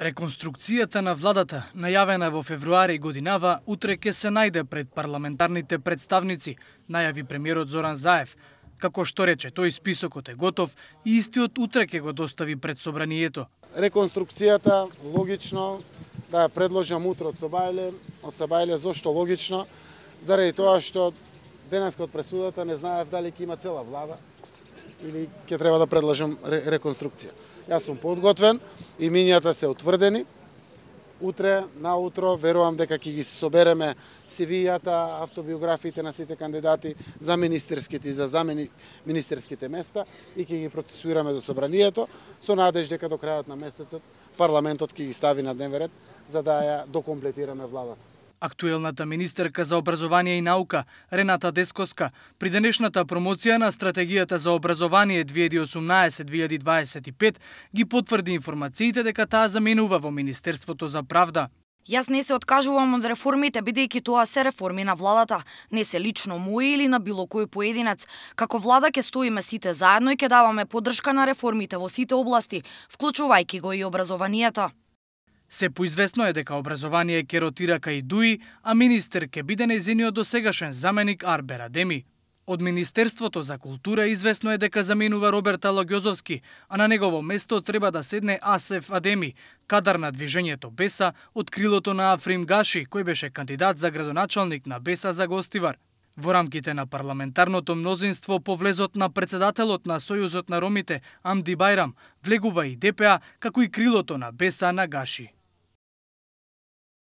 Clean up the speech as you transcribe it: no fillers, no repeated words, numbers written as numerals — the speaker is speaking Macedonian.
Реконструкцијата на владата, најавена во февруари годинава, утре ќе се најде пред парламентарните представници, најави премиерот Зоран Заев. Како што рече, тој списокот е готов и истиот утре ќе го достави пред собранието. Реконструкцијата логично да ја предложам утре од Собајле, зошто логично? Заради тоа што денеска од пресудата не знаев дали ќе има цела влада или ќе треба да предложам реконструкција. Јас сум подготвен, имињата се утврдени. Утре, наутро, верувам дека ќе ги собереме CV-јата, автобиографиите на сите кандидати за министерските и за замени-министерските места и ќе ги процесуираме до собранието, со надеж дека до крајот на месецот парламентот ќе ги стави на дневен ред за да ја докомплетираме владата. Актуелната министерка за образование и наука, Рената Дескоска, при денешната промоција на стратегијата за образование 2018-2025 ги потврди информациите дека таа заменува во Министерството за правда. Јас не се откажувам од реформите, бидејќи тоа се реформи на владата, не се лично мои или на било кој поединец. Како влада ќе стоиме сите заедно и ќе даваме поддршка на реформите во сите области, вклучувајќи го и образованието. Се поизвестно е дека образование ќе ротира кај ДУИ, а министер ќе биде нејзиниот досегашен заменик Арбер Адеми. Од Министерството за култура известно е дека заменува Роберт Алогјозовски, а на негово место треба да седне Асеф Адеми, кадар на движењето Беса од крилото на Африм Гаши, кој беше кандидат за градоначалник на Беса за Гостивар. Во рамките на парламентарното мнозинство по влезот на председателот на Сојузот на ромите Амди Бајрам влегува и ДПА, како и крилото на Беса на Гаши.